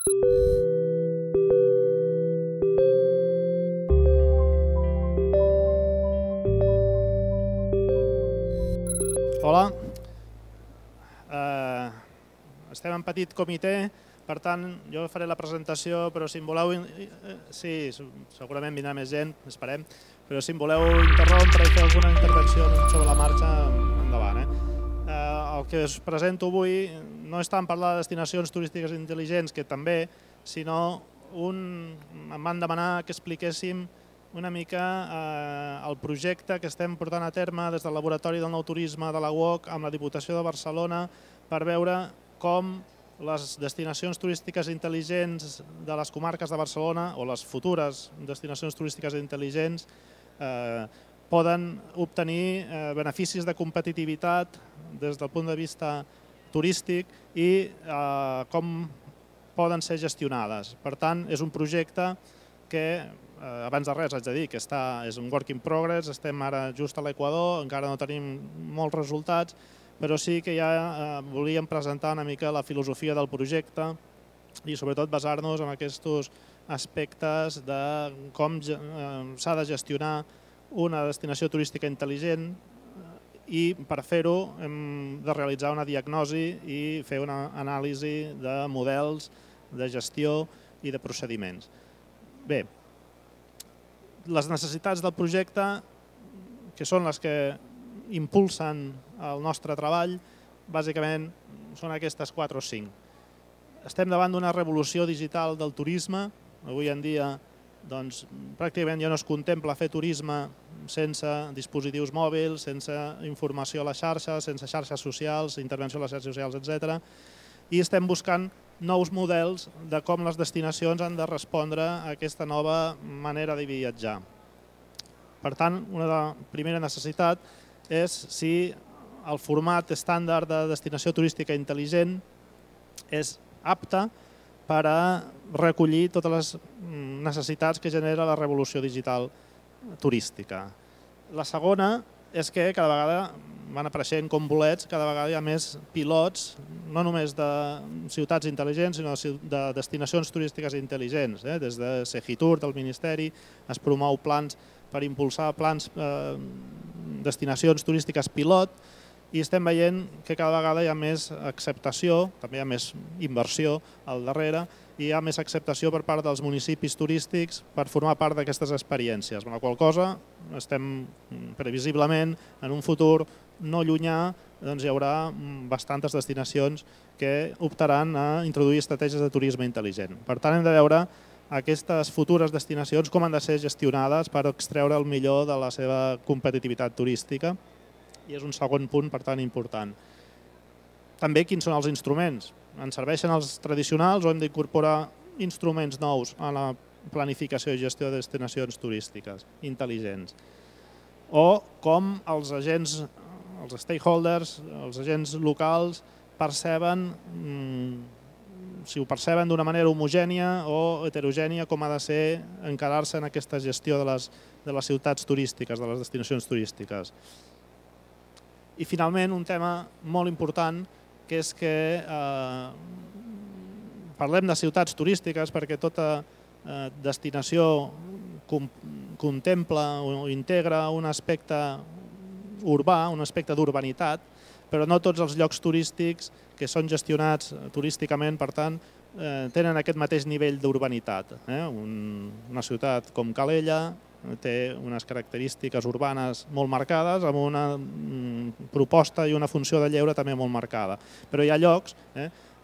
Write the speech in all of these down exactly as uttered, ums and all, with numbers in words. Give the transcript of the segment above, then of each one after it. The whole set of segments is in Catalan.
Hola. Eh, estem en petit comitè, per tant, jo faré la presentació, però si em voleu... Sí, segurament vindrà més gent, esperem, però si em voleu interrompre i fer alguna intervenció sobre la marxa, endavant. El que us presento avui no és tant parlar de destinacions turístiques intel·ligents, que també, sinó em van demanar que expliquéssim una mica el projecte que estem portant a terme des del Laboratori del Nou Turisme de la U O C amb la Diputació de Barcelona per veure com les destinacions turístiques intel·ligents de les comarques de Barcelona o les futures destinacions turístiques intel·ligents poden obtenir beneficis de competitivitat des del punt de vista turístic i com poden ser gestionades. Per tant, és un projecte que, abans de res haig de dir que és un work in progress, estem ara just a l'Equador, encara no tenim molts resultats, però sí que ja volíem presentar una mica la filosofia del projecte i sobretot basar-nos en aquests aspectes de com s'ha de gestionar una destinació turística intel·ligent i per fer-ho hem de realitzar una diagnosi i fer una anàlisi de models de gestió i de procediments. Bé, les necessitats del projecte, que són les que impulsen el nostre treball, bàsicament són aquestes quatre o cinc. Estem davant d'una revolució digital del turisme. Avui en dia pràcticament ja no es contempla fer turisme sense dispositius mòbils, sense informació a les xarxes, sense xarxes socials, intervenció a les xarxes socials, etcètera. I estem buscant nous models de com les destinacions han de respondre a aquesta nova manera de viatjar. Per tant, una primera necessitat és si el format estàndard de destinació turística intel·ligent és apte per a recollir totes les necessitats que genera la revolució digital turística. La segona és que cada vegada van apareixent com bolets, cada vegada hi ha més pilots, no només de ciutats intel·ligents, sinó de destinacions turístiques intel·ligents. Des de Segitur, del Ministeri, es promou plans per impulsar plans, destinacions turístiques pilot, i estem veient que cada vegada hi ha més acceptació, també hi ha més inversió al darrere, i hi ha més acceptació per part dels municipis turístics per formar part d'aquestes experiències. Amb la qual cosa estem previsiblement en un futur no llunyà hi haurà bastantes destinacions que optaran a introduir estratègies de turisme intel·ligent. Per tant, hem de veure aquestes futures destinacions com han de ser gestionades per extreure el millor de la seva competitivitat turística, i és un segon punt, per tant, important. També quins són els instruments? Ens serveixen els tradicionals o hem d'incorporar instruments nous a la planificació i gestió de destinacions turístiques intel·ligents? O com els agents, els stakeholders, els agents locals perceben, si ho perceben d'una manera homogènia o heterogènia, com ha de ser encarar-se en aquesta gestió de les ciutats turístiques, de les destinacions turístiques. I finalment, un tema molt important, que és que parlem de ciutats turístiques perquè tota destinació contempla o integra un aspecte urbà, un aspecte d'urbanitat, però no tots els llocs turístics que són gestionats turísticament, per tant, tenen aquest mateix nivell d'urbanitat. Una ciutat com Calella té unes característiques urbanes molt marcades, amb una proposta i una funció de lleure també molt marcada. Però hi ha llocs,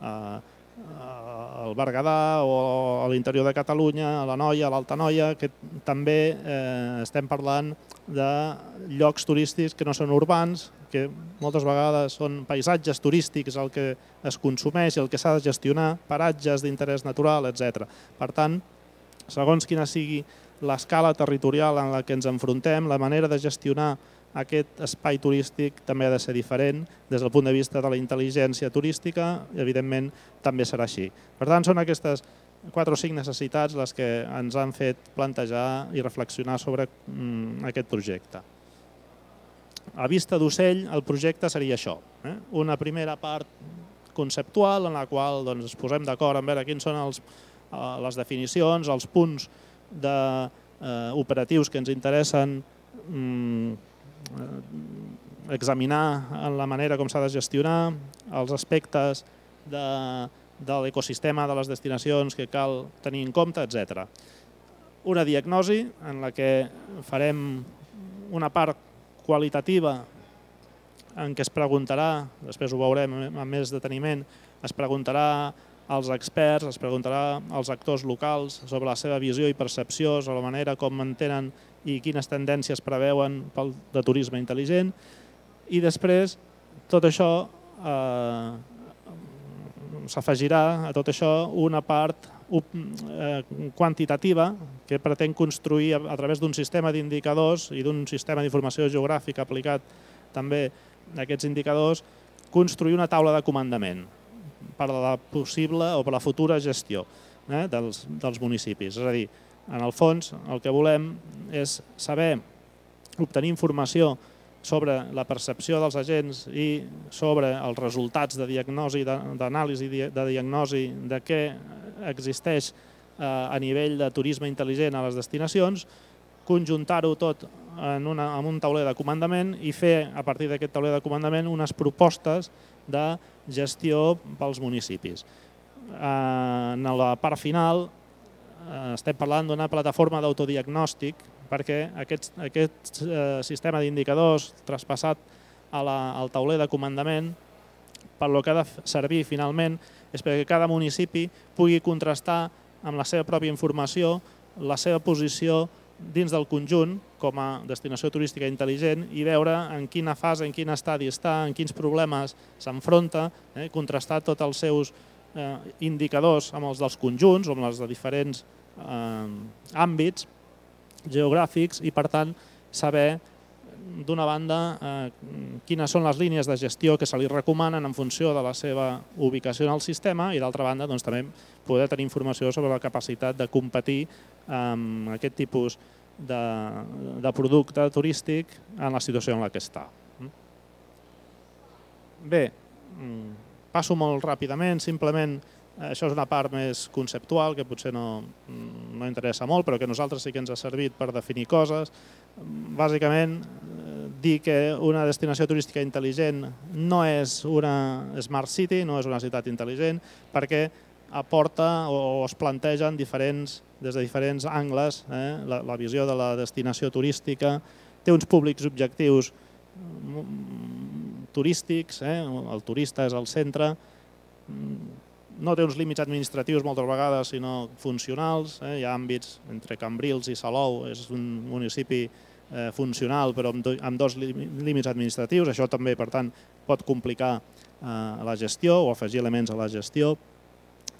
al Berguedà o a l'interior de Catalunya, a l'Anoia, a l'Altanoia, que també estem parlant de llocs turístics que no són urbans, que moltes vegades són paisatges turístics el que es consumeix i el que s'ha de gestionar, paratges d'interès natural, etcètera. Per tant, segons quina sigui l'escala territorial en la que ens enfrontem, la manera de gestionar aquest espai turístic també ha de ser diferent des del punt de vista de la intel·ligència turística i, evidentment, també serà així. Per tant, són aquestes quatre o cinc necessitats les que ens han fet plantejar i reflexionar sobre aquest projecte. A vista d'ocell, el projecte seria això. Una primera part conceptual en la qual ens posem d'acord en veure quins són les definicions, els punts operatius que ens interessen examinar en la manera com s'ha de gestionar, els aspectes de l'ecosistema de les destinacions que cal tenir en compte, etcètera. Una diagnosi en la que farem una part qualitativa en què es preguntarà, després ho veurem amb més deteniment, es preguntarà als experts, es preguntarà als actors locals sobre la seva visió i percepció, sobre la manera com entenen i quines tendències preveuen pel de turisme intel·ligent, i després tot això s'afegirà a tot això una part quantitativa que pretén construir a través d'un sistema d'indicadors i d'un sistema d'informació geogràfica aplicat també a aquests indicadors, construir una taula de comandament per a la possible o per a la futura gestió dels municipis. És a dir, en el fons el que volem és saber, obtenir informació sobre la percepció dels agents i sobre els resultats de diagnosi, d'anàlisi de diagnosi de què existeix a nivell de turisme intel·ligent a les destinacions, conjuntar-ho tot en un tauler de comandament i fer, a partir d'aquest tauler de comandament, unes propostes de gestió pels municipis. En la part final estem parlant d'una plataforma d'autodiagnòstic perquè aquest sistema d'indicadors traspassat al tauler de comandament per lo que ha de servir finalment és perquè cada municipi pugui contrastar amb la seva pròpia informació la seva posició dins del conjunt com a destinació turística intel·ligent i veure en quina fase, en quin estadi està, en quins problemes s'enfronta, contrastar tots els seus indicadors amb els dels conjunts o amb els de diferents àmbits geogràfics i, per tant, saber, d'una banda, quines són les línies de gestió que se li recomanen en funció de la seva ubicació en el sistema i, d'altra banda, també poder tenir informació sobre la capacitat de competir amb aquest tipus de producte turístic en la situació en la que està. Bé, passo molt ràpidament, simplement això és una part més conceptual que potser no interessa molt, però que a nosaltres sí que ens ha servit per definir coses. Bàsicament, dir que una destinació turística intel·ligent no és una smart city, no és una ciutat intel·ligent, perquè aporta o es plantegen des de diferents angles la visió de la destinació turística, té uns públics objectius turístics, el turista és al centre, no té uns límits administratius moltes vegades, sinó funcionals. Hi ha àmbits entre Cambrils i Salou, és un municipi funcional però amb dos límits administratius. Això també, per tant, pot complicar la gestió o afegir elements a la gestió.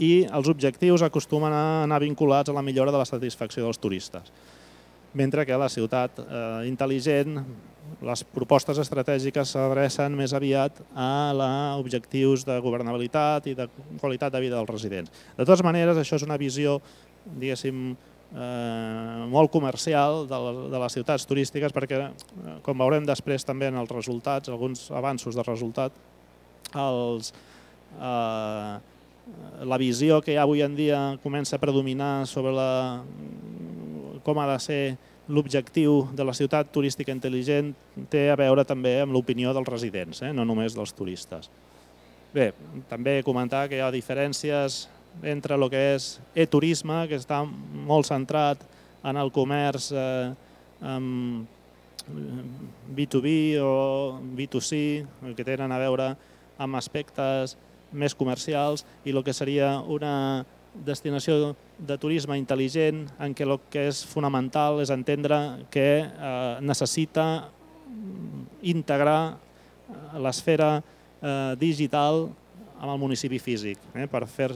I els objectius acostumen a anar vinculats a la millora de la satisfacció dels turistes. Mentre que a la ciutat intel·ligent les propostes estratègiques s'adrecen més aviat a objectius de governabilitat i de qualitat de vida dels residents. De totes maneres, això és una visió, diguéssim, molt comercial de les ciutats turístiques perquè, com veurem després també en els resultats, alguns avanços de resultat, la visió que avui en dia comença a predominar sobre com ha de ser l'objectiu de la ciutat turística intel·ligent té a veure també amb l'opinió dels residents, no només dels turistes. Bé, també comentar que hi ha diferències entre el que és e-turisme, que està molt centrat en el comerç B dos B o B dos C, que tenen a veure amb aspectes més comercials, i el que seria una destinació de turisme intel·ligent en què el que és fonamental és entendre que necessita integrar l'esfera digital amb el municipi físic.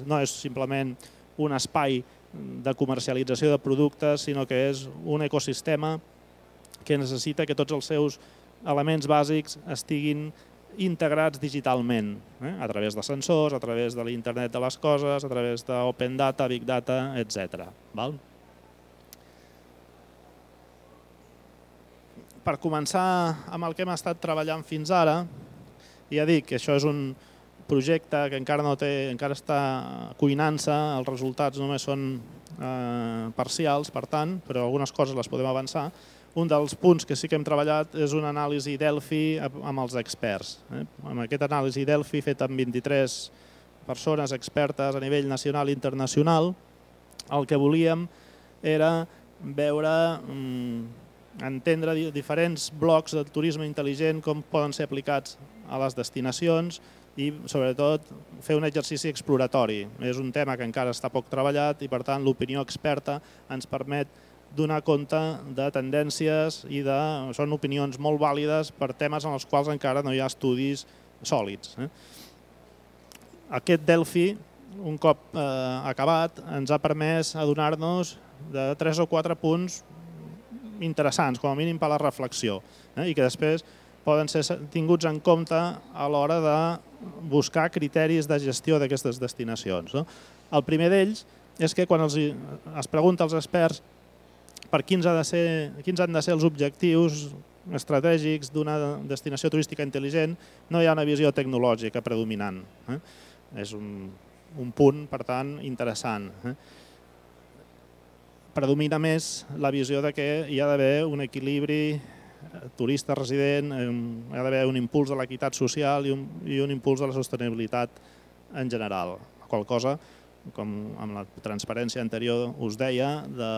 No és simplement un espai de comercialització de productes, sinó que és un ecosistema que necessita que tots els seus elements bàsics estiguin integrats digitalment, a través de sensors, a través de l'internet de les coses, a través d'open data, big data, etcètera. Per començar amb el que hem estat treballant fins ara, ja dic que això és un projecte que encara no té, encara està cuinant-se, els resultats només són parcials, per tant, però algunes coses les podem avançar. Un dels punts que sí que hem treballat és una anàlisi Delphi amb els experts. Amb aquesta anàlisi Delphi feta amb vint-i-tres persones expertes a nivell nacional i internacional, el que volíem era veure, entendre diferents blocs del turisme intel·ligent, com poden ser aplicats a les destinacions i, sobretot, fer un exercici exploratori. És un tema que encara està poc treballat i, per tant, l'opinió experta ens permet donar compte de tendències i de... són opinions molt vàlides per temes en els quals encara no hi ha estudis sòlids. Aquest Delphi, un cop acabat, ens ha permès adonar-nos de tres o quatre punts interessants, com a mínim per a la reflexió, i que després poden ser tinguts en compte a l'hora de buscar criteris de gestió d'aquestes destinacions. El primer d'ells és que quan es pregunta als experts per quins han de ser els objectius estratègics d'una destinació turística intel·ligent, no hi ha una visió tecnològica predominant. És un punt, per tant, interessant. Predomina més la visió que hi ha d'haver un equilibri turista resident, hi ha d'haver un impuls de l'equitat social i un impuls de la sostenibilitat en general. Qual cosa, com amb la transparència anterior us deia, de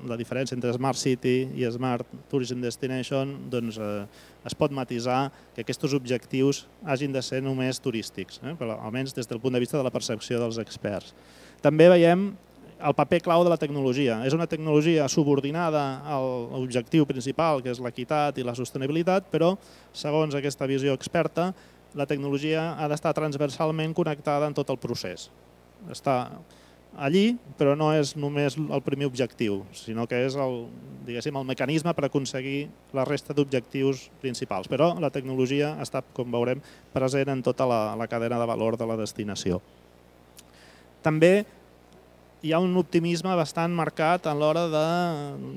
la diferència entre Smart City i Smart Tourism Destination, doncs es pot matisar que aquests objectius hagin de ser només turístics, almenys des del punt de vista de la percepció dels experts. També veiem el paper clau de la tecnologia. És una tecnologia subordinada a l'objectiu principal, que és l'equitat i la sostenibilitat, però, segons aquesta visió experta, la tecnologia ha d'estar transversalment connectada en tot el procés. Està allí, però no és només el primer objectiu, sinó que és el mecanisme per aconseguir la resta d'objectius principals. Però la tecnologia està, com veurem, present en tota la cadena de valor de la destinació. També hi ha un optimisme bastant marcat a l'hora de,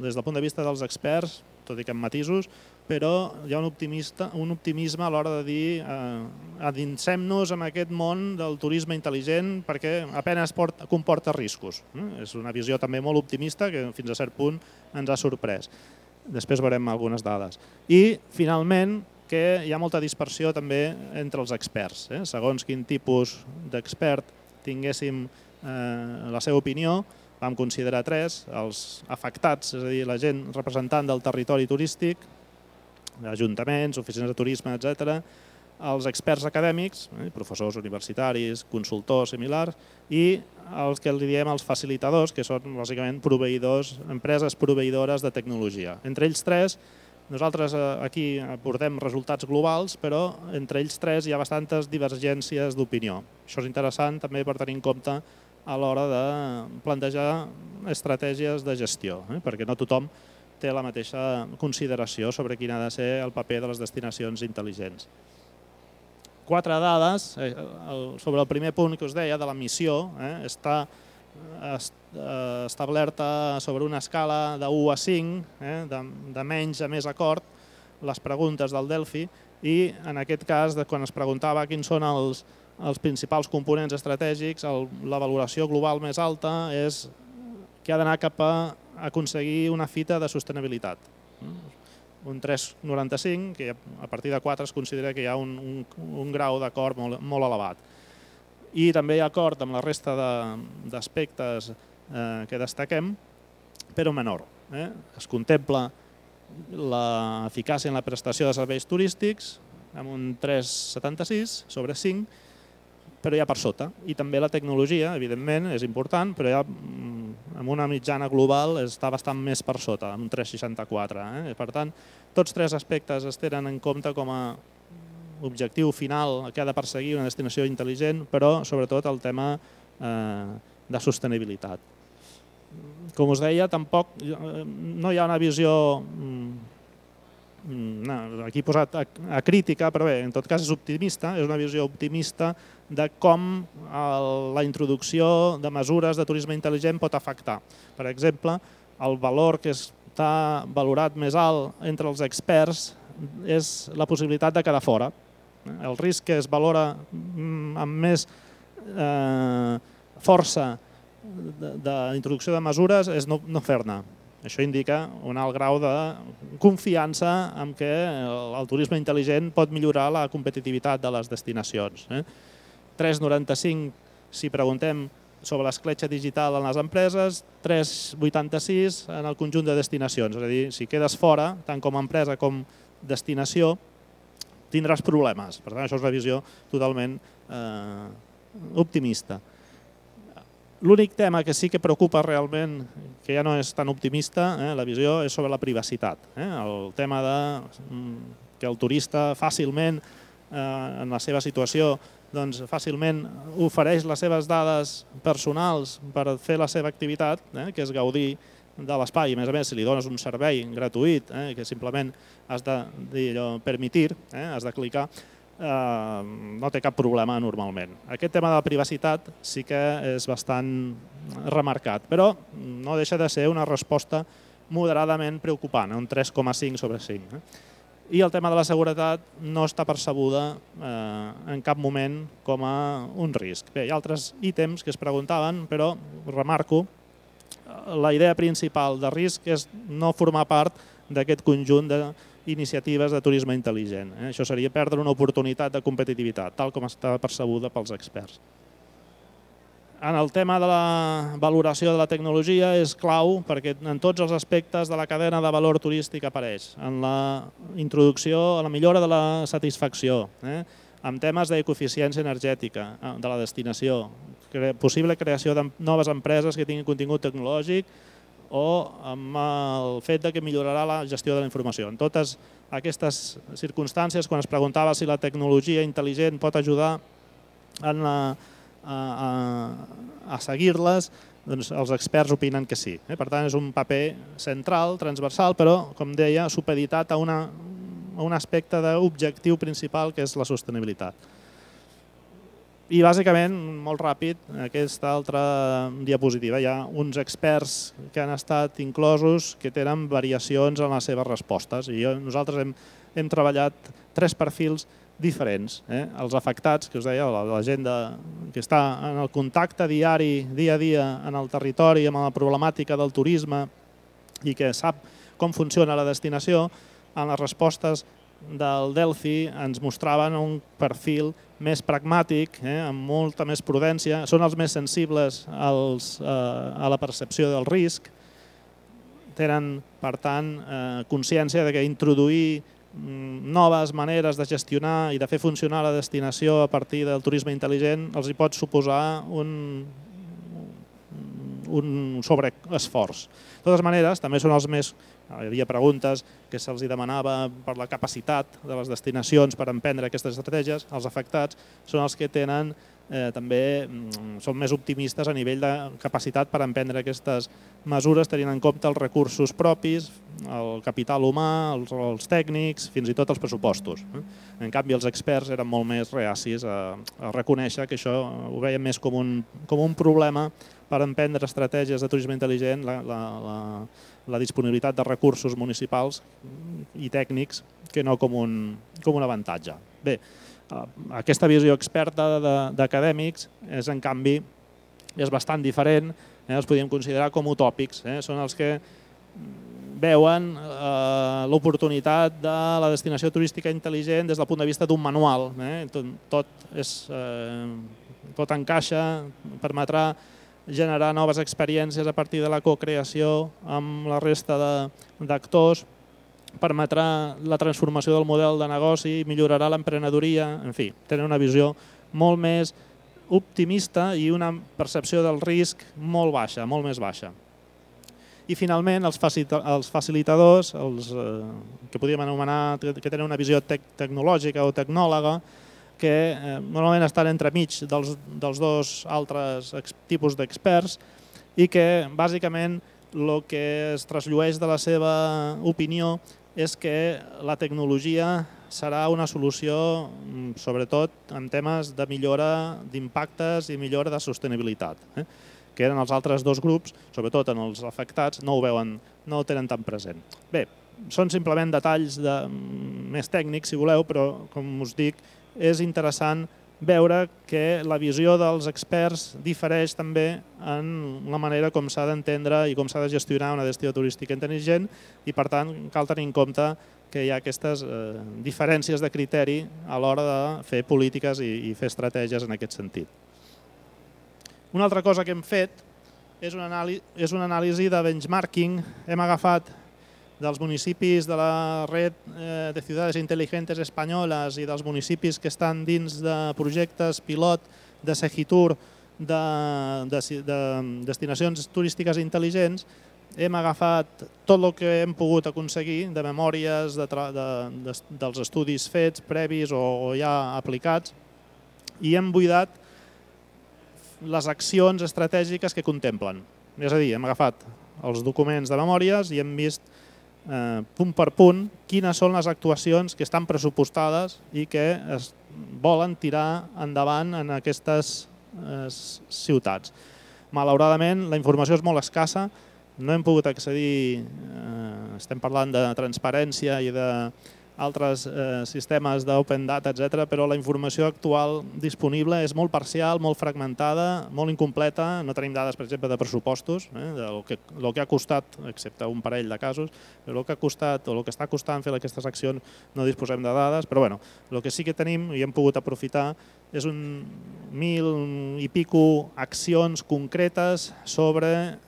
des del punt de vista dels experts, tot i que amb matisos, però hi ha un optimisme a l'hora de dir adinsem-nos en aquest món del turisme intel·ligent perquè apenas comporta riscos. És una visió també molt optimista que fins a cert punt ens ha sorprès. Després veurem algunes dades. I, finalment, que hi ha molta dispersió també entre els experts. Segons quin tipus d'expert tinguéssim la seva opinió, vam considerar tres, els afectats, és a dir, la gent representant del territori turístic, ajuntaments, oficines de turisme, etcètera, els experts acadèmics, professors universitaris, consultors similars, i els que li diem els facilitadors, que són bàsicament proveïdors, empreses proveïdores de tecnologia. Entre ells tres, nosaltres aquí aportem resultats globals, però entre ells tres hi ha bastantes divergències d'opinió. Això és interessant també per tenir en compte a l'hora de plantejar estratègies de gestió, perquè no tothom té la mateixa consideració sobre quin ha de ser el paper de les destinacions intel·ligents. Quatre dades sobre el primer punt que us deia, de la missió. Està establerta sobre una escala de u a cinc, de menys a més acord, les preguntes del Delphi, i en aquest cas, quan es preguntava quins són els els principals components estratègics, la valoració global més alta és que ha d'anar cap a aconseguir una fita de sostenibilitat. Un tres coma noranta-cinc, que a partir de quatre es considera que hi ha un grau d'acord molt elevat. I també hi ha acord amb la resta d'aspectes que destaquem, però menor. Es contempla l'eficàcia en la prestació de serveis turístics amb un tres coma setanta-sis sobre cinc, però ja per sota. I també la tecnologia, evidentment, és important, però ja amb una mitjana global està bastant més per sota, amb un tres coma seixanta-quatre. Per tant, tots tres aspectes es tenen en compte com a objectiu final que ha de perseguir una destinació intel·ligent, però sobretot el tema de sostenibilitat. Com us deia, tampoc no hi ha una visió... aquí he posat a crítica, però bé, en tot cas és optimista, és una visió optimista de com la introducció de mesures de turisme intel·ligent pot afectar. Per exemple, el valor que està valorat més alt entre els experts és la possibilitat de quedar fora. El risc que es valora amb més força d'introducció de mesures és no fer-ne. Això indica un alt grau de confiança en què el turisme intel·ligent pot millorar la competitivitat de les destinacions. tres coma noranta-cinc si preguntem sobre l'escletxa digital en les empreses, tres coma vuitanta-sis en el conjunt de destinacions. És a dir, si quedes fora, tant com a empresa com destinació, tindràs problemes. Per tant, això és una visió totalment optimista. L'únic tema que sí que preocupa realment, que ja no és tan optimista, la visió és sobre la privacitat. El tema que el turista fàcilment, en la seva situació, fàcilment ofereix les seves dades personals per fer la seva activitat, que és gaudir de l'espai. A més a més, si li dones un servei gratuït, que simplement has de permitir, has de clicar, no té cap problema normalment. Aquest tema de la privacitat sí que és bastant remarcat, però no deixa de ser una resposta moderadament preocupant, un tres coma cinc sobre cinc. I el tema de la seguretat no està percebuda en cap moment com a un risc. Bé, hi ha altres ítems que es preguntaven, però remarco, la idea principal de risc és no formar part d'aquest conjunt d'iniciatives de turisme intel·ligent. Això seria perdre una oportunitat de competitivitat, tal com està percebuda pels experts. En el tema de la valoració de la tecnologia és clau perquè en tots els aspectes de la cadena de valor turístic apareix. En la introducció, en la millora de la satisfacció, en temes d'ecoeficiència energètica de la destinació, possible creació de noves empreses que tinguin contingut tecnològic o amb el fet que millorarà la gestió de la informació. En totes aquestes circumstàncies, quan es preguntava si la tecnologia intel·ligent pot ajudar a seguir-les, els experts opinen que sí. Per tant, és un paper central, transversal, però, com deia, supeditat a un aspecte d'objectiu principal, que és la sostenibilitat. I bàsicament, molt ràpid, aquesta altra diapositiva, hi ha uns experts que han estat inclosos que tenen variacions en les seves respostes. I nosaltres hem treballat tres perfils diferents. Els afectats, que us deia, la gent que està en el contacte diari, dia a dia, en el territori, amb la problemàtica del turisme i que sap com funciona la destinació, en les respostes del Delphi ens mostraven un perfil més pragmàtic, amb molta més prudència, són els més sensibles a la percepció del risc, tenen, per tant, consciència que introduir noves maneres de gestionar i de fer funcionar la destinació a partir del turisme intel·ligent els hi pot suposar un sobreesforç. De totes maneres, també són els més... Hi havia preguntes que se'ls demanava per la capacitat de les destinacions per emprendre aquestes estratègies. Els afectats són els que tenen també són més optimistes a nivell de capacitat per emprendre aquestes mesures tenint en compte els recursos propis, el capital humà, els tècnics, fins i tot els pressupostos. En canvi, els experts eren molt més reacis a reconèixer que això ho veien més com un problema per emprendre estratègies de turisme intel·ligent, la disponibilitat de recursos municipals i tècnics, que no com un avantatge. Bé, aquesta visió experta d'acadèmics és, en canvi, és bastant diferent, els podríem considerar com utòpics. Són els que veuen l'oportunitat de la destinació turística intel·ligent des del punt de vista d'un manual. Tot encaixa, permetrà generar noves experiències a partir de la cocreació amb la resta d'actors, permetrà la transformació del model de negoci, millorarà l'emprenedoria, en fi, tenen una visió molt més optimista i una percepció del risc molt baixa, molt més baixa. I finalment, els facilitadors, els que podríem anomenar, que tenen una visió tecnològica o tecnòloga, que normalment estan entremig dels dos altres tipus d'experts i que, bàsicament, el que es trasllueix de la seva opinió és que la tecnologia serà una solució, sobretot en temes de millora d'impactes i millora de sostenibilitat, que eren els altres dos grups, sobretot en els afectats, no ho veuen, no ho tenen tan present. Bé, són simplement detalls més tècnics, si voleu, però, com us dic, és interessant veure que la visió dels experts difereix també en la manera com s'ha d'entendre i com s'ha de gestionar una destinació turística intel·ligent i, per tant, cal tenir en compte que hi ha aquestes diferències de criteri a l'hora de fer polítiques i fer estratègies en aquest sentit. Una altra cosa que hem fet és una anàlisi de benchmarking. Hem agafat dels municipis de la Red de Ciudades Inteligentes Espanyoles i dels municipis que estan dins de projectes pilot de Segitur, de destinacions turístiques intel·ligents. Hem agafat tot el que hem pogut aconseguir de memòries dels estudis fets, previs o ja aplicats, i hem buidat les accions estratègiques que contemplen. És a dir, hem agafat els documents de memòries i hem vist punt per punt quines són les actuacions que estan pressupostades i que es volen tirar endavant en aquestes ciutats. Malauradament, la informació és molt escassa, no hem pogut accedir, estem parlant de transparència i d'altres sistemes d'open data, etcètera, però la informació actual disponible és molt parcial, molt fragmentada, molt incompleta. No tenim dades, per exemple, de pressupostos, del que ha costat, excepte un parell de casos, però el que ha costat o el que està costant fer aquestes accions no disposem de dades, però bé, el que sí que tenim i hem pogut aprofitar és un mil i pico accions concretes sobre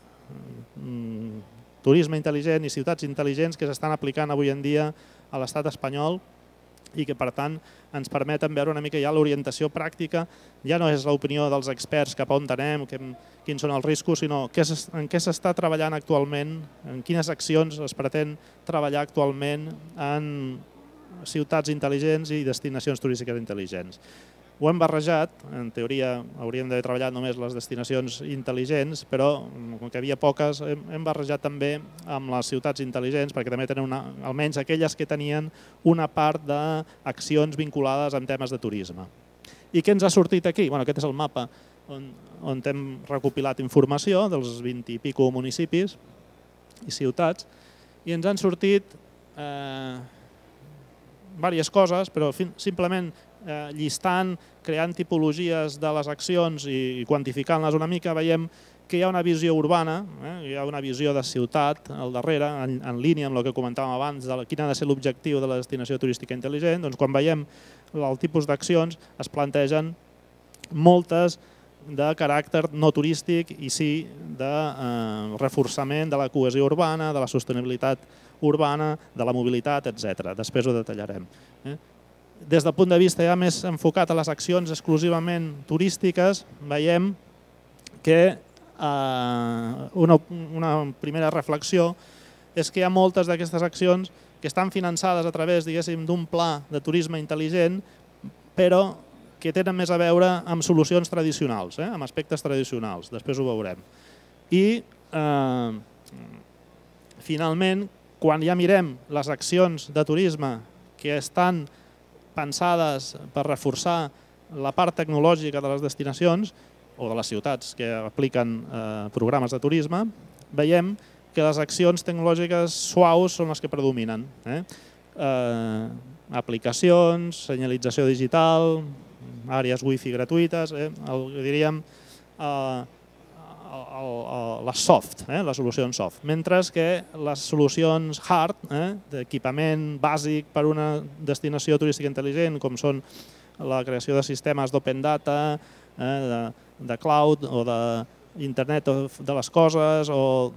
turisme intel·ligent i ciutats intel·ligents que s'estan aplicant avui en dia a l'estat espanyol i que, per tant, ens permeten veure una mica ja l'orientació pràctica. Ja no és l'opinió dels experts cap a on anem, quins són els riscos, sinó en què s'està treballant actualment, en quines accions es pretén treballar actualment en ciutats intel·ligents i destinacions turístiques intel·ligents. Ho hem barrejat, en teoria hauríem d'haver treballat només les destinacions intel·ligents, però com que hi havia poques, hem barrejat també amb les ciutats intel·ligents, perquè també tenen almenys aquelles que tenien una part d'accions vinculades amb temes de turisme. I què ens ha sortit aquí? Aquest és el mapa on hem recopilat informació dels vint i pico municipis i ciutats i ens han sortit diverses coses, però simplement llistant, creant tipologies de les accions i quantificant-les una mica, veiem que hi ha una visió urbana, hi ha una visió de ciutat al darrere, en línia amb el que comentàvem abans, de quin ha de ser l'objectiu de la destinació turística intel·ligent. Doncs quan veiem el tipus d'accions es plantegen moltes de caràcter no turístic i sí de reforçament de la cohesió urbana, de la sostenibilitat urbana, de la mobilitat, etcètera. Després ho detallarem. Des del punt de vista ja més enfocat a les accions exclusivament turístiques, veiem que una primera reflexió és que hi ha moltes d'aquestes accions que estan finançades a través, diguéssim, d'un pla de turisme intel·ligent, però que tenen més a veure amb solucions tradicionals, amb aspectes tradicionals. Després ho veurem. I, finalment, quan ja mirem les accions de turisme que estan pensades per reforçar la part tecnològica de les destinacions o de les ciutats que apliquen programes de turisme, veiem que les accions tecnològiques suaus són les que predominen. Aplicacions, senyalització digital, àrees wifi gratuïtes, diríem les soft, les solucions soft, mentre que les solucions hard, d'equipament bàsic per a una destinació turística intel·ligent, com són la creació de sistemes d'open data, de cloud o d'internet de les coses o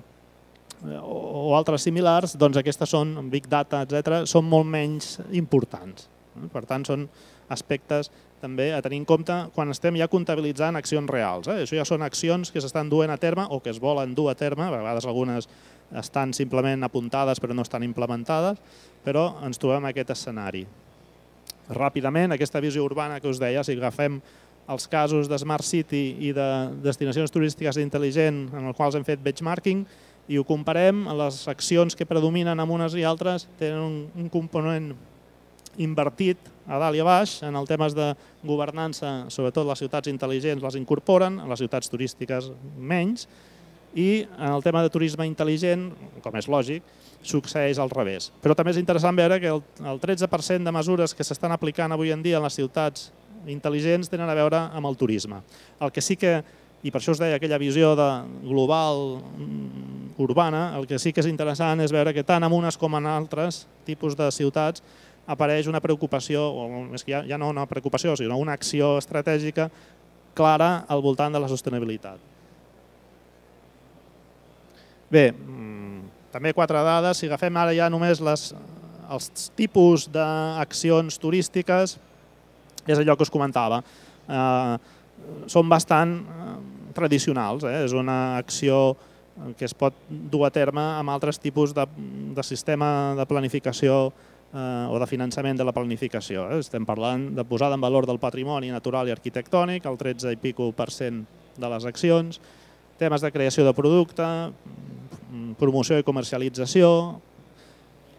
altres similars, doncs aquestes són, big data, etcètera, són molt menys importants. Per tant, són aspectes també a tenir en compte quan estem ja comptabilitzant accions reals. Això ja són accions que s'estan duent a terme o que es volen dur a terme, a vegades algunes estan simplement apuntades però no estan implementades, però ens trobem en aquest escenari. Ràpidament, aquesta visió urbana que us deia, si agafem els casos de Smart City i de destinacions turístiques intel·ligents en els quals hem fet benchmarking i ho comparem, les accions que predominen en unes i altres tenen un component invertit a dalt i a baix en els temes de governança, sobretot les ciutats intel·ligents les incorporen, les ciutats turístiques menys, I en el tema de turisme intel·ligent, com és lògic, succeeix al revés. Però també és interessant veure que el tretze per cent de mesures que s'estan aplicant avui en dia en les ciutats intel·ligents tenen a veure amb el turisme. El que sí que, i per això us deia aquella visió de global urbana, el que sí que és interessant és veure que tant en unes com en altres tipus de ciutats apareix una preocupació, o més que ja no una preocupació, sinó una acció estratègica clara al voltant de la sostenibilitat. Bé, també quatre dades. Si agafem ara ja només els tipus d'accions turístiques, és allò que us comentava. Són bastant tradicionals. És una acció que es pot dur a terme amb altres tipus de sistema de planificació o de finançament de la planificació. Estem parlant de posada en valor del patrimoni natural i arquitectònic, el tretze i pico per cent de les accions, temes de creació de producte, promoció i comercialització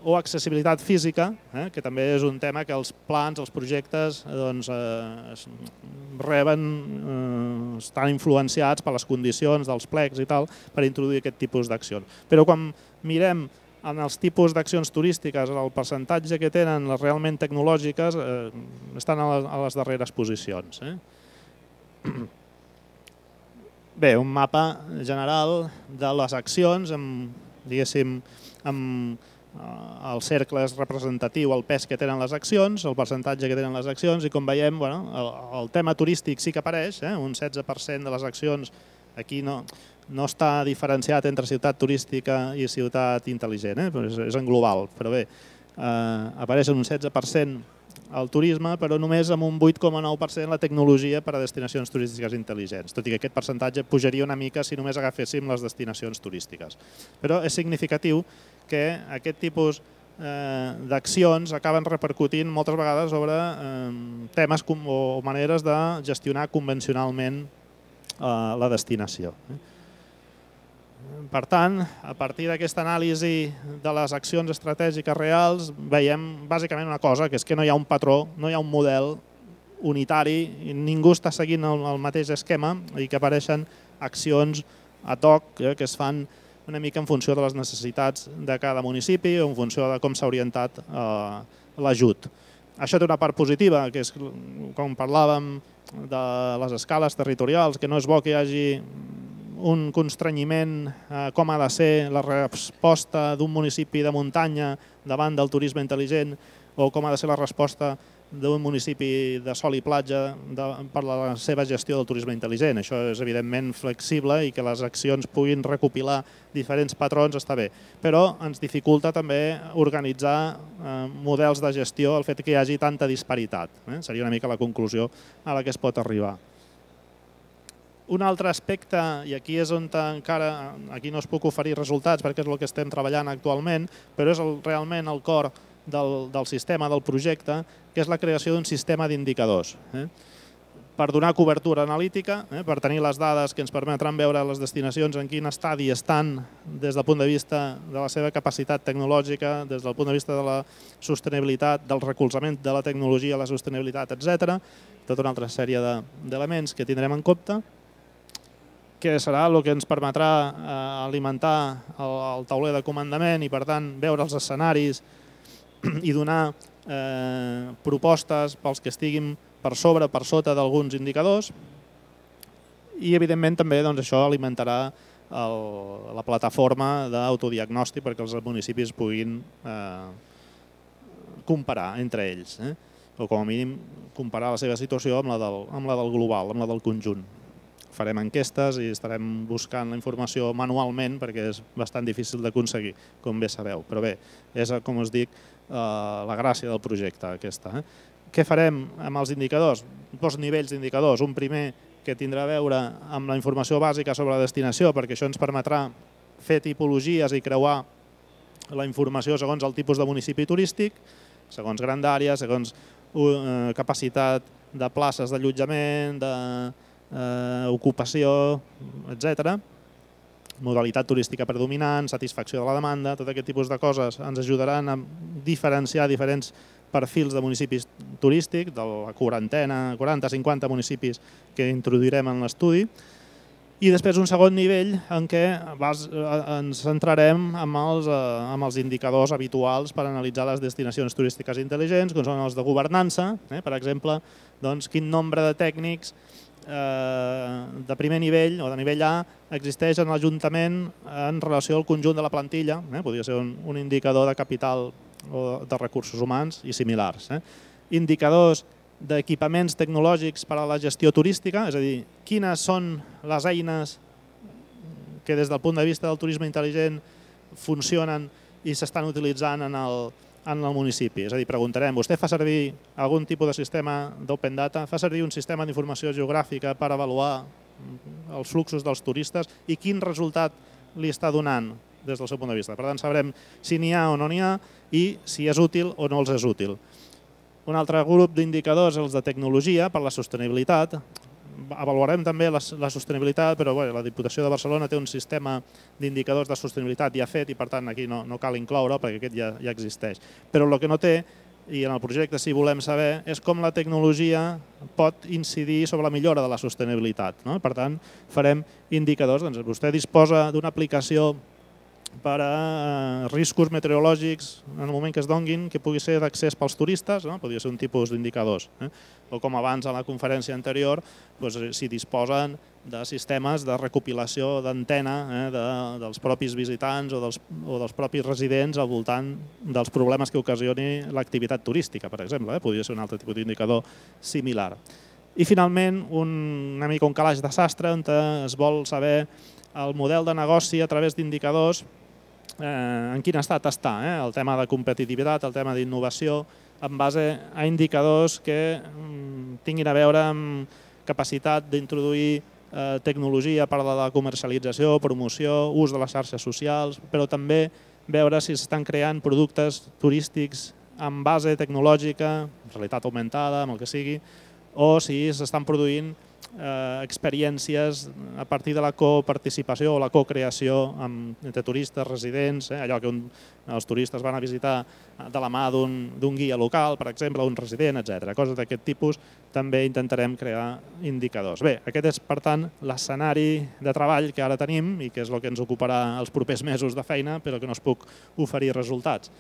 o accessibilitat física, que també és un tema que els plans, els projectes reben, estan influenciats per les condicions dels plecs i tal per introduir aquest tipus d'accions. Però quan mirem en els tipus d'accions turístiques, el percentatge que tenen les realment tecnològiques estan a les darreres posicions. Bé, un mapa general de les accions, diguéssim, amb el cercle és representatiu, el pes que tenen les accions, el percentatge que tenen les accions, i com veiem, el tema turístic sí que apareix, un setze per cent de les accions aquí no està diferenciat entre ciutat turística i ciutat intel·ligent, és en global, però bé, apareix en un setze per cent el turisme, però només amb un vuit coma nou per cent la tecnologia per a destinacions turístiques intel·ligents, tot i que aquest percentatge pujaria una mica si només agaféssim les destinacions turístiques. Però és significatiu que aquest tipus d'accions acaben repercutint moltes vegades sobre temes o maneres de gestionar convencionalment la destinació. Per tant, a partir d'aquesta anàlisi de les accions estratègiques reals, veiem bàsicament una cosa, que és que no hi ha un patró, no hi ha un model unitari, ningú està seguint el mateix esquema i que apareixen accions ad hoc que es fan una mica en funció de les necessitats de cada municipi o en funció de com s'ha orientat l'ajut. Això té una part positiva, que és, com parlàvem, de les escales territorials, que no és bo que hi hagi un constrenyiment com ha de ser la resposta d'un municipi de muntanya davant del turisme intel·ligent o com ha de ser la resposta d'un municipi de sol i platja per la seva gestió del turisme intel·ligent. Això és evidentment flexible i que les accions puguin recopilar diferents patrons està bé, però ens dificulta també organitzar models de gestió el fet que hi hagi tanta disparitat. Seria una mica la conclusió a la que es pot arribar. Un altre aspecte, i aquí és on encara aquí no us puc oferir resultats perquè és el que estem treballant actualment, però és realment el cor del sistema, del projecte, que és la creació d'un sistema d'indicadors. Per donar cobertura analítica, per tenir les dades que ens permetran veure les destinacions en quin estadi estan des del punt de vista de la seva capacitat tecnològica, des del punt de vista de la sostenibilitat, del recolzament de la tecnologia a la sostenibilitat, etcètera. Tota una altra sèrie d'elements que tindrem en compte, que serà el que ens permetrà alimentar el tauler de comandament i, per tant, veure els escenaris i donar propostes pels que estiguin per sobre o per sota d'alguns indicadors. I, evidentment, també això alimentarà la plataforma d'autodiagnòstic perquè els municipis puguin comparar entre ells, o com a mínim comparar la seva situació amb la del global, amb la del conjunt. Farem enquestes i estarem buscant la informació manualment perquè és bastant difícil d'aconseguir, com bé sabeu. Però bé, és, com us dic, la gràcia del projecte aquesta. Què farem amb els indicadors? Dos nivells d'indicadors. Un primer que tindrà a veure amb la informació bàsica sobre la destinació, perquè això ens permetrà fer tipologies i creuar la informació segons el tipus de municipi turístic, segons grandària, segons capacitat de places d'allotjament, d'ocupació, etcètera. Modalitat turística predominant, satisfacció de la demanda, tot aquest tipus de coses ens ajudaran a diferenciar diferents perfils de municipis turístics, de la quarantena, quaranta a cinquanta municipis que introduirem en l'estudi. I després un segon nivell en què ens centrarem en els indicadors habituals per analitzar les destinacions turístiques intel·ligents, com són els de governança, per exemple, quin nombre de tècnics de primer nivell o de nivell A existeix en l'Ajuntament en relació al conjunt de la plantilla, podria ser un indicador de capital o de recursos humans i similars. Indicadors d'equipaments tecnològics per a la gestió turística, és a dir, quines són les eines que des del punt de vista del turisme intel·ligent funcionen i s'estan utilitzant en el municipi. És a dir, preguntarem, vostè fa servir algun tipus de sistema d'open data, fa servir un sistema d'informació geogràfica per avaluar els fluxos dels turistes i quin resultat li està donant des del seu punt de vista. Per tant, sabrem si n'hi ha o no n'hi ha i si és útil o no els és útil. Un altre grup d'indicadors, els de tecnologia, per la sostenibilitat. Avaluarem també la sostenibilitat, però la Diputació de Barcelona té un sistema d'indicadors de sostenibilitat ja fet i per tant aquí no cal incloure perquè aquest ja existeix. Però el que no té, i en el projecte sí volem saber, és com la tecnologia pot incidir sobre la millora de la sostenibilitat. Per tant, farem indicadors. Vostè disposa d'una aplicació per a riscos meteorològics en el moment que es donguin, que pugui ser d'accés pels turistes, podria ser un tipus d'indicadors. O com abans a la conferència anterior, si disposen de sistemes de recopilació d'antena dels propis visitants o dels propis residents al voltant dels problemes que ocasioni l'activitat turística, per exemple. Podria ser un altre tipus d'indicador similar. I finalment, una mica un calaix de sastre on es vol saber el model de negoci a través d'indicadors en quin estat està, el tema de competitivitat, el tema d'innovació, en base a indicadors que tinguin a veure amb capacitat d'introduir tecnologia per a la comercialització, promoció, ús de les xarxes socials, però també veure si s'estan creant productes turístics amb base tecnològica, realitat augmentada, amb el que sigui, o si s'estan produint experiències a partir de la coparticipació o la cocreació entre turistes, residents, allò que els turistes van a visitar de la mà d'un guia local, per exemple, un resident, etcètera. Coses d'aquest tipus també intentarem crear indicadors. Bé, aquest és, per tant, l'escenari de treball que ara tenim i que és el que ens ocuparà els propers mesos de feina, però que no es puc oferir resultats.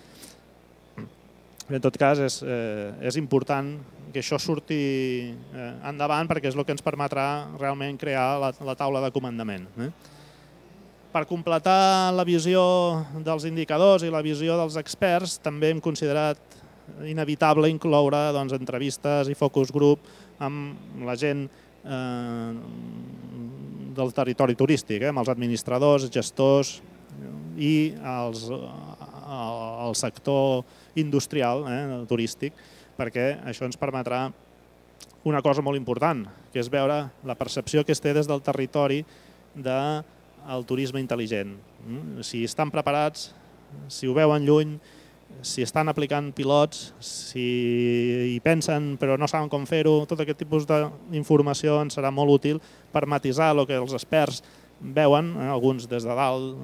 En tot cas, és important que això surti endavant perquè és el que ens permetrà realment crear la taula de comandament. Per completar la visió dels indicadors i la visió dels experts, també hem considerat inevitable incloure entrevistes i focus group amb la gent del territori turístic, amb els administradors, gestors i el sector industrial turístic, perquè això ens permetrà una cosa molt important, que és veure la percepció que es té des del territori del turisme intel·ligent. Si estan preparats, si ho veuen lluny, si estan aplicant pilots, si hi pensen però no saben com fer-ho, tot aquest tipus d'informació ens serà molt útil per matisar el que els experts veuen, alguns des de dalt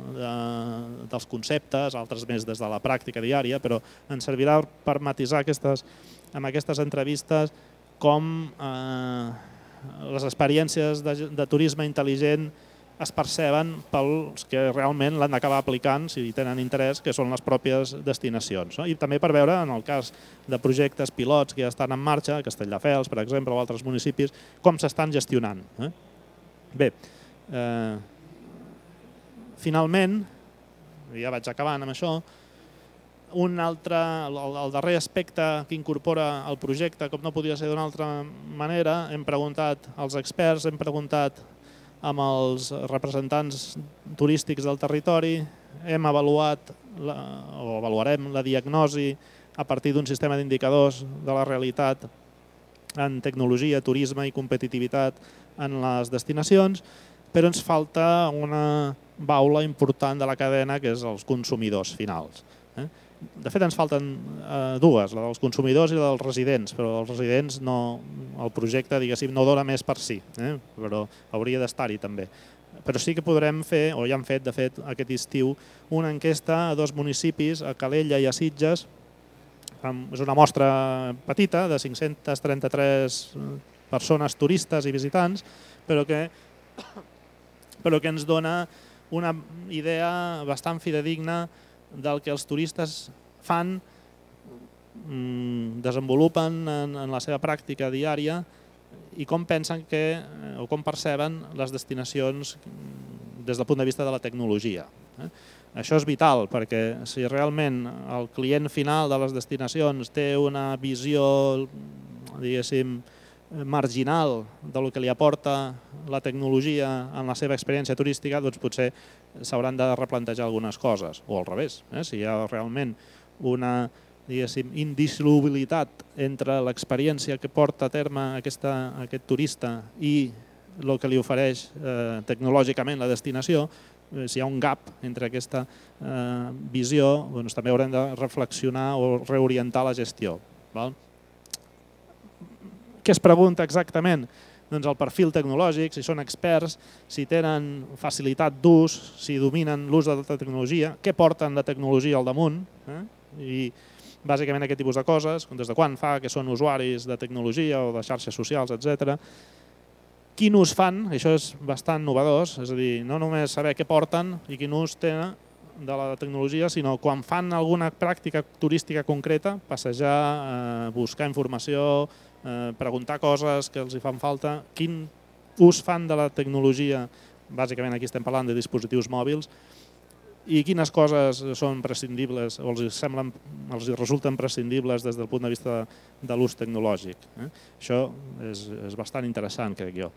dels conceptes, altres més des de la pràctica diària, però ens servirà per matisar amb aquestes entrevistes com les experiències de turisme intel·ligent es perceben pels que realment l'han d'acabar aplicant, si tenen interès, que són les pròpies destinacions. I també per veure, en el cas de projectes pilots que ja estan en marxa, a Castelldefels, per exemple, o altres municipis, com s'estan gestionant. Bé, finalment, ja vaig acabant amb això, un altre, el darrer aspecte que incorpora el projecte, com no podia ser d'una altra manera, hem preguntat als experts, hem preguntat amb els representants turístics del territori, hem avaluat o avaluarem la diagnosi a partir d'un sistema d'indicadors de la realitat en tecnologia, turisme i competitivitat en les destinacions, però ens falta una baula important de la cadena, que és els consumidors finals. De fet, ens falten dues, la dels consumidors i la dels residents, però els residents el projecte no dona més per si, però hauria d'estar-hi també. Però sí que podrem fer, o ja hem fet, de fet, aquest estiu, una enquesta a dos municipis, a Calella i a Sitges. És una mostra petita, de cinc-centes trenta-tres persones turistes i visitants, però que però que ens dona una idea bastant fidedigna del que els turistes fan, desenvolupen en la seva pràctica diària i com pensen que, o com perceben les destinacions des del punt de vista de la tecnologia. Això és vital perquè si realment el client final de les destinacions té una visió, diguéssim, marginal del que li aporta la tecnologia en la seva experiència turística, doncs potser s'hauran de replantejar algunes coses, o al revés. Si hi ha realment una indissolubilitat entre l'experiència que porta a terme aquest turista i el que li ofereix tecnològicament la destinació, si hi ha un gap entre aquesta visió, també haurem de reflexionar o reorientar la gestió. Què es pregunta exactament? Doncs el perfil tecnològic, si són experts, si tenen facilitat d'ús, si dominen l'ús de la tecnologia, què porten de tecnologia al damunt, i bàsicament aquest tipus de coses, des de quan fa que són usuaris de tecnologia o de xarxes socials, etcètera. Quin ús fan, això és bastant novedós, és a dir, no només saber què porten i quin ús tenen de la tecnologia, sinó quan fan alguna pràctica turística concreta, passejar, buscar informació, preguntar coses que els fan falta, quin ús fan de la tecnologia, bàsicament aquí estem parlant de dispositius mòbils, i quines coses són prescindibles o els semblen, els resulten prescindibles des del punt de vista de l'ús tecnològic. Això és bastant interessant, crec jo.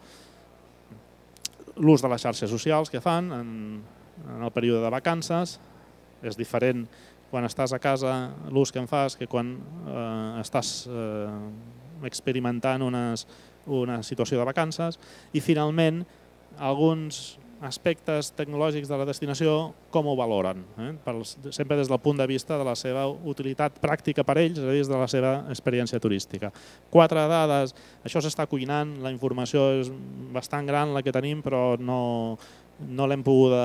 L'ús de les xarxes socials que fan en el període de vacances és diferent quan estàs a casa, l'ús que en fas, que quan estàs experimentant una situació de vacances. I finalment, alguns aspectes tecnològics de la destinació, com ho valoren, sempre des del punt de vista de la seva utilitat pràctica per ells, és a dir, des de la seva experiència turística. Quatre dades, això s'està cuinant, la informació és bastant gran la que tenim, però no l'hem pogut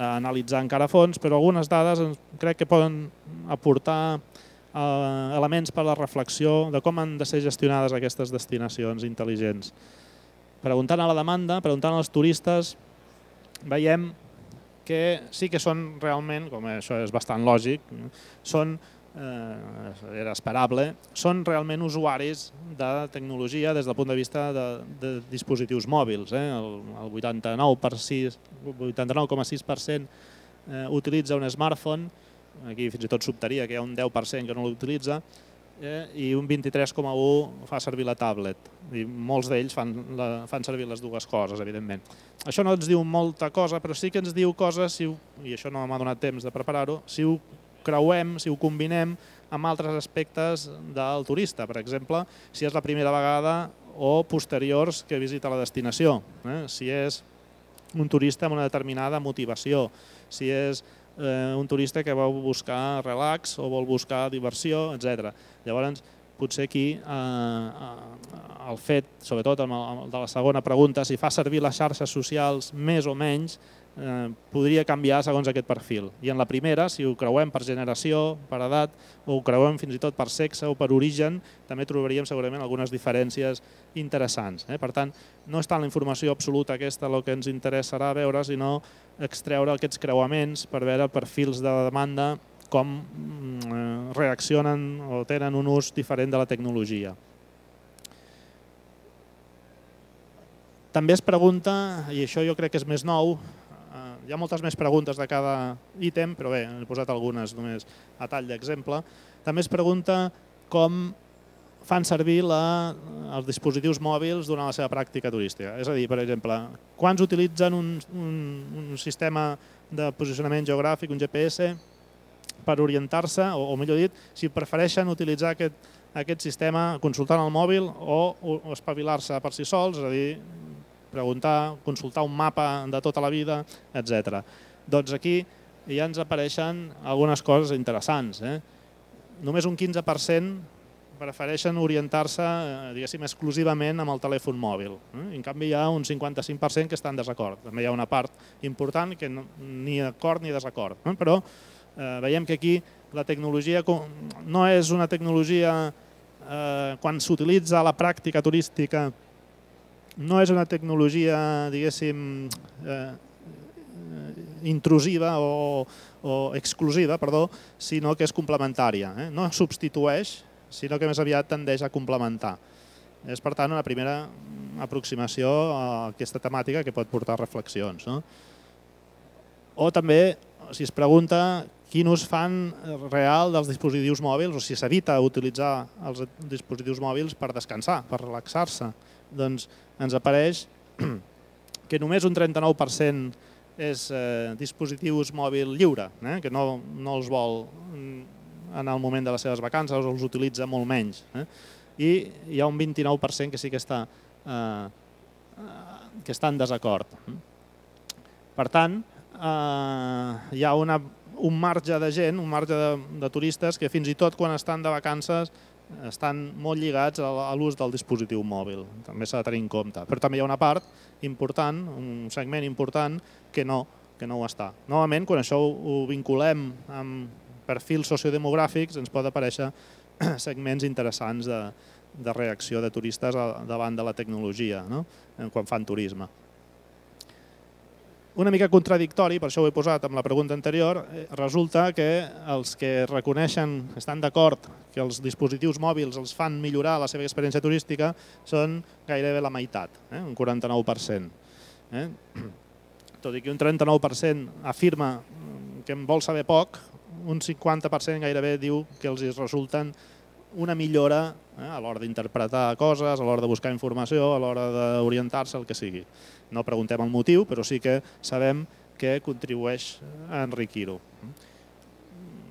analitzar encara a fons, però algunes dades crec que poden aportar elements per a la reflexió de com han de ser gestionades aquestes destinacions intel·ligents. Preguntant a la demanda, preguntant als turistes, veiem que sí que són realment, com això és bastant lògic, són, era esperable, són realment usuaris de tecnologia des del punt de vista de dispositius mòbils. El vuitanta-nou coma sis per cent utilitza un smartphone, aquí fins i tot s'optaria que hi ha un deu per cent que no l'utilitza, i un vint-i-tres coma u per cent fa servir la tablet. Molts d'ells fan servir les dues coses, evidentment. Això no ens diu molta cosa, però sí que ens diu coses, i això no m'ha donat temps de preparar-ho, si ho creuem, si ho combinem amb altres aspectes del turista. Per exemple, si és la primera vegada o posteriors que visita la destinació. Si és un turista amb una determinada motivació, si és un turista que vol buscar relax o vol buscar diversió, etcètera. Llavors, potser aquí el fet, sobretot de la segona pregunta, si fa servir les xarxes socials més o menys, podria canviar segons aquest perfil. I en la primera, si ho creuem per generació, per edat, o ho creuem fins i tot per sexe o per origen, també trobaríem segurament algunes diferències interessants. Per tant, no és tant la informació absoluta aquesta el que ens interessarà veure, sinó extreure aquests creuaments per veure perfils de demanda, com reaccionen o tenen un ús diferent de la tecnologia. També es pregunta, i això jo crec que és més nou, hi ha moltes més preguntes de cada ítem, però bé, he posat algunes només a tall d'exemple. També es pregunta com fan servir els dispositius mòbils durant la seva pràctica turística. És a dir, per exemple, quants utilitzen un sistema de posicionament geogràfic, un G P S, per orientar-se, o millor dit, si prefereixen utilitzar aquest sistema consultant el mòbil o espavilar-se per si sols, és a dir, preguntar, consultar un mapa de tota la vida, etcètera. Doncs aquí ja ens apareixen algunes coses interessants. Només un quinze per cent prefereixen orientar-se, diguéssim, exclusivament amb el telèfon mòbil. En canvi, hi ha un cinquanta-cinc per cent que està en desacord. També hi ha una part important que ni acord ni desacord. Però veiem que aquí la tecnologia no és una tecnologia, quan s'utilitza a la pràctica turística, no és una tecnologia, diguéssim, intrusiva o, o exclusiva, perdó, sinó que és complementària. Eh? No substitueix, sinó que més aviat tendeix a complementar. És, per tant, una primera aproximació a aquesta temàtica que pot portar reflexions. No? O també, si es pregunta quin ús fan real dels dispositius mòbils o si s'evita utilitzar els dispositius mòbils per descansar, per relaxar-se, doncs ens apareix que només un trenta-nou per cent és eh, dispositius mòbil lliure, eh? que no, no els vol en el moment de les seves vacances o els utilitza molt menys. Eh? I hi ha un vint-i-nou per cent que sí que està, eh, que està en desacord. Per tant, eh, hi ha una, un marge de gent, un marge de, de turistes que fins i tot quan estan de vacances estan molt lligats a l'ús del dispositiu mòbil. També s'ha de tenir en compte. Però també hi ha una part important, un segment important, que no, que no ho està. Novament, quan això ho vinculem amb perfils sociodemogràfics, ens pot aparèixer segments interessants de, de reacció de turistes davant de la tecnologia, no? Quan fan turisme. Una mica contradictori, per això ho he posat amb la pregunta anterior, resulta que els que reconeixen, estan d'acord que els dispositius mòbils els fan millorar la seva experiència turística són gairebé la meitat, eh? un quaranta-nou per cent. Eh? Tot i que un trenta-nou per cent afirma que en vol saber poc, un cinquanta per cent gairebé diu que els resulten una millora eh, a l'hora d'interpretar coses, a l'hora de buscar informació, a l'hora d'orientar-se, el que sigui. No preguntem el motiu, però sí que sabem que contribueix a enriquir-ho.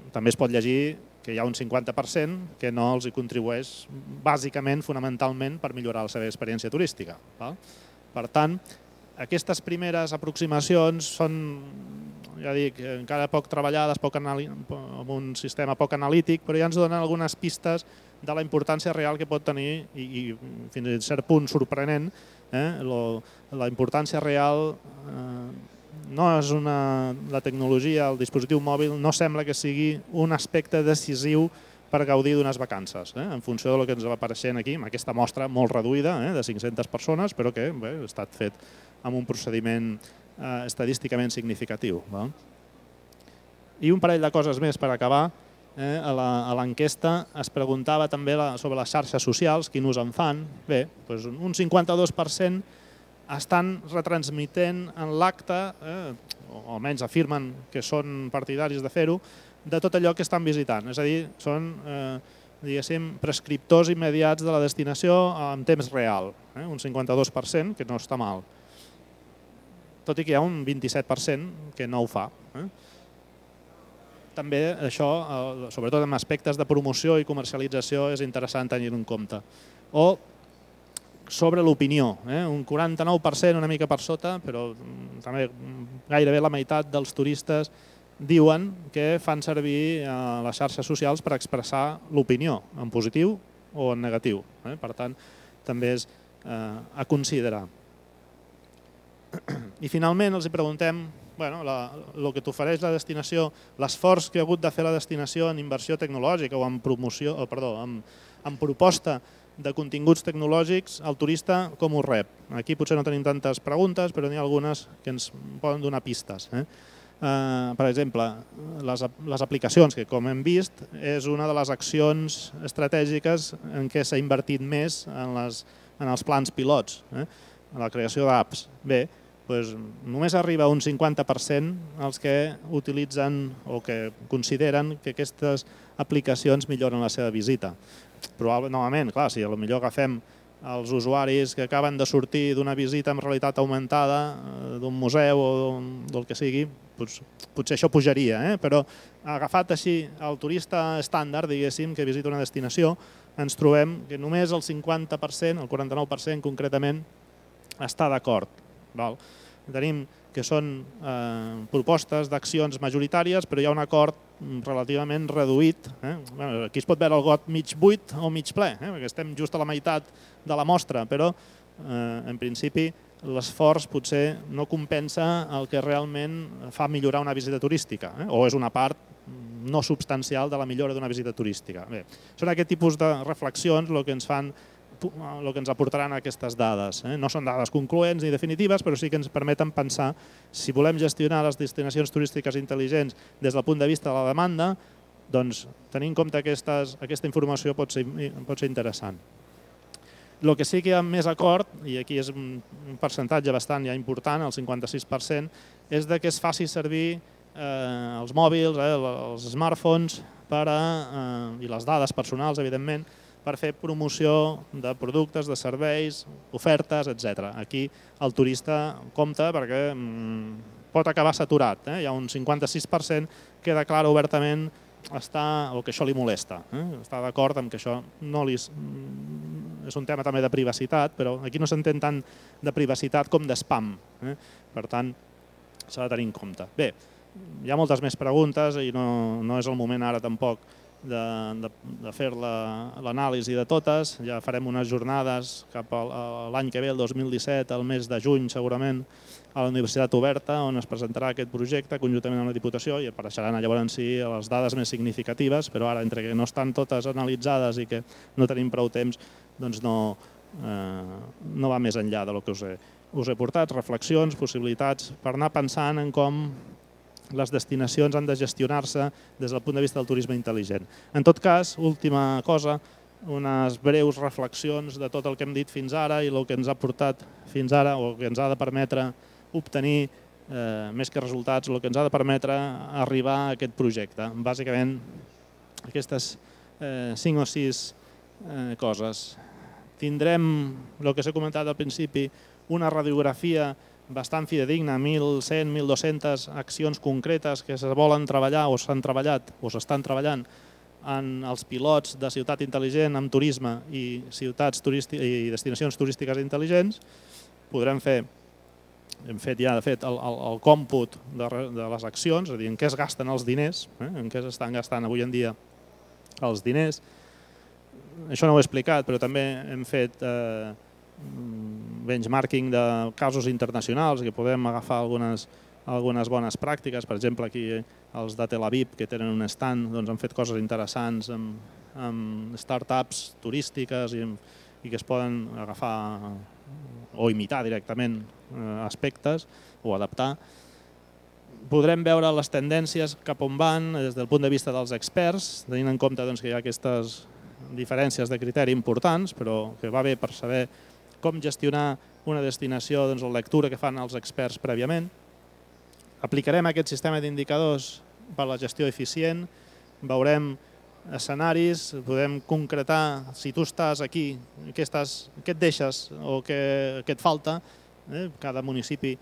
També es pot llegir que hi ha un cinquanta per cent que no els hi contribueix bàsicament, fonamentalment, per millorar la seva experiència turística. Per tant, aquestes primeres aproximacions són, ja dic, encara poc treballades, poc amb un sistema poc analític, però ja ens donen algunes pistes de la importància real que pot tenir, i, i fins a cert punt sorprenent, eh, lo, la importància real eh, no és una, la tecnologia, el dispositiu mòbil no sembla que sigui un aspecte decisiu per gaudir d'unes vacances, eh, en funció del que ens va apareixent aquí, amb aquesta mostra molt reduïda, eh, de cinc-centes persones, però que bé, ha estat fet amb un procediment eh, estadísticament significatiu. Va? I un parell de coses més per acabar. Eh, a l'enquesta es preguntava també la, sobre les xarxes socials, quin ús en fan. Bé, doncs un cinquanta-dos per cent estan retransmitent en l'acte, eh, o almenys afirmen que són partidaris de fer-ho, de tot allò que estan visitant. És a dir, són eh, diguéssim, prescriptors immediats de la destinació en temps real. Eh, un cinquanta-dos per cent, que no està mal. Tot i que hi ha un vint-i-set per cent que no ho fa. Eh. També això, sobretot en aspectes de promoció i comercialització, és interessant tenir-ho en compte. O sobre l'opinió, eh? un quaranta-nou per cent, una mica per sota, però també gairebé la meitat dels turistes diuen que fan servir les xarxes socials per expressar l'opinió, en positiu o en negatiu. Eh? Per tant, també és eh, a considerar. I finalment els preguntem bueno, el que t'ofereix la destinació, l'esforç que ha hagut de fer la destinació en inversió tecnològica o en promoció, oh, perdó, en, en proposta de continguts tecnològics, el turista com ho rep. Aquí potser no tenim tantes preguntes, però n'hi ha algunes que ens poden donar pistes. Eh? Uh, per exemple, les, les aplicacions, que com hem vist, és una de les accions estratègiques en què s'ha invertit més en, les, en els plans pilots, eh? en la creació d'apps. Bé, doncs només arriba un cinquanta per cent els que utilitzen o que consideren que aquestes aplicacions milloren la seva visita. Probablement, novament, clar, si potser agafem els usuaris que acaben de sortir d'una visita amb realitat augmentada d'un museu o del que sigui, doncs, potser això pujaria, eh? Però agafat així el turista estàndard, diguéssim, que visita una destinació, ens trobem que només el cinquanta per cent, el quaranta-nou per cent concretament, està d'acord. Tenim que són eh, propostes d'accions majoritàries, però hi ha un acord relativament reduït. Eh? Bueno, aquí es pot veure el got mig buit o mig ple, eh? perquè estem just a la meitat de la mostra, però eh, en principi l'esforç potser no compensa el que realment fa millorar una visita turística, eh? o és una part no substancial de la millora d'una visita turística. Bé, són aquest tipus de reflexions el que ens fan el que ens aportaran aquestes dades. No són dades concloents ni definitives, però sí que ens permeten pensar si volem gestionar les destinacions turístiques intel·ligents des del punt de vista de la demanda, doncs tenir en compte aquesta informació pot ser interessant. El que sí que hi ha més acord, i aquí és un percentatge bastant ja important, el cinquanta-sis per cent, és que es faci servir els mòbils, els smartphones i les dades personals, evidentment, per fer promoció de productes, de serveis, ofertes, etcètera. Aquí el turista compta perquè pot acabar saturat. Hi ha un cinquanta-sis per cent que declara obertament o que això li molesta. Està d'acord amb que això no li... És un tema també de privacitat, però aquí no s'entén tant de privacitat com de spam. Per tant, s'ha de tenir en compte. Bé, hi ha moltes més preguntes i no és el moment ara tampoc de fer l'anàlisi de totes. Ja farem unes jornades cap a l'any que ve, el dos mil disset, al mes de juny segurament, a la Universitat Oberta, on es presentarà aquest projecte conjuntament amb la Diputació i apareixeran llavors sí les dades més significatives, però ara, entre que no estan totes analitzades i que no tenim prou temps, doncs no va més enllà del que us he portat. Reflexions, possibilitats, per anar pensant en com les destinacions han de gestionar-se des del punt de vista del turisme intel·ligent. En tot cas, última cosa, unes breus reflexions de tot el que hem dit fins ara i el que ens ha portat fins ara o que ens ha de permetre obtenir, més que resultats, el que ens ha de permetre arribar a aquest projecte. Bàsicament, aquestes cinc o sis coses. Tindrem, el que s'ha comentat al principi, una radiografia bastant fidedigna, mil cent, mil dues-centes accions concretes que se volen treballar o s'han treballat o s'estan treballant en els pilots de ciutat intel·ligent amb turisme i destinacions turístiques intel·ligents. Podrem fer, hem fet ja de fet el còmput de les accions, és a dir, en què es gasten els diners, en què s'estan gastant avui en dia els diners. Això no ho he explicat, però també hem fet benchmarking de casos internacionals que podem agafar algunes bones pràctiques. Per exemple, aquí els de Tel Aviv, que tenen un stand, han fet coses interessants amb start-ups turístiques i que es poden agafar o imitar directament aspectes o adaptar. Podrem veure les tendències cap on van des del punt de vista dels experts, tenint en compte que hi ha aquestes diferències de criteri importants, però que va bé per saber com gestionar una destinació, la lectura que fan els experts prèviament. Aplicarem aquest sistema d'indicadors per a la gestió eficient, veurem escenaris, podem concretar si tu estàs aquí, què et deixes o què et falta. Cada municipi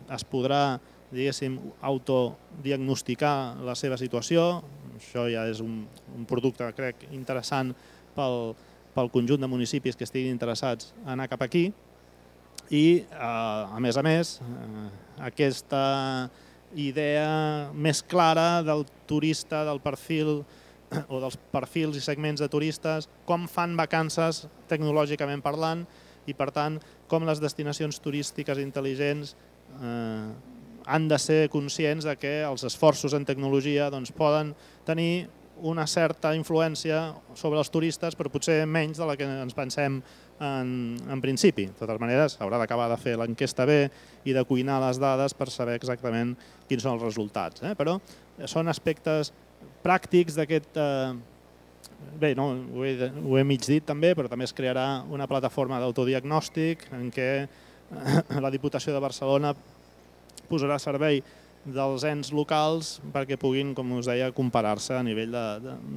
es podrà, diguéssim, autodiagnosticar la seva situació. Això ja és un producte, crec, interessant pel conjunt de municipis que estiguin interessats a anar cap aquí. I, a més a més, aquesta idea més clara del turista, del perfil o dels perfils i segments de turistes, com fan vacances tecnològicament parlant i, per tant, com les destinacions turístiques intel·ligents han de ser conscients que els esforços en tecnologia poden tenir una certa influència sobre els turistes, però potser menys de la que ens pensem en principi. De totes maneres, s'haurà d'acabar de fer l'enquesta bé i de cuinar les dades per saber exactament quins són els resultats. Però són aspectes pràctics d'aquest... Bé, ho he mig dit també, però també es crearà una plataforma d'autodiagnòstic en què la Diputació de Barcelona posarà a servei dels ens locals perquè puguin, com us deia, comparar-se a nivell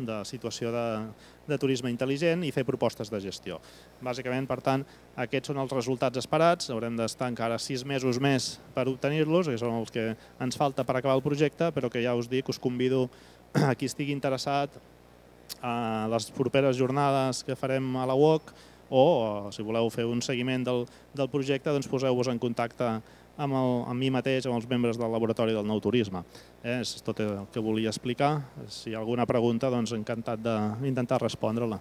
de situació de turisme intel·ligent i fer propostes de gestió. Bàsicament, per tant, aquests són els resultats esperats. Haurem d'estar encara sis mesos més per obtenir-los, que són els que ens falta per acabar el projecte, però que ja us dic, us convido a qui estigui interessat a les properes jornades que farem a la U O C o, si voleu fer un seguiment del projecte, doncs poseu-vos en contacte amb mi mateix, amb els membres del Laboratori del Nou Turisme. És tot el que volia explicar. Si hi ha alguna pregunta, doncs encantat d'intentar respondre-la.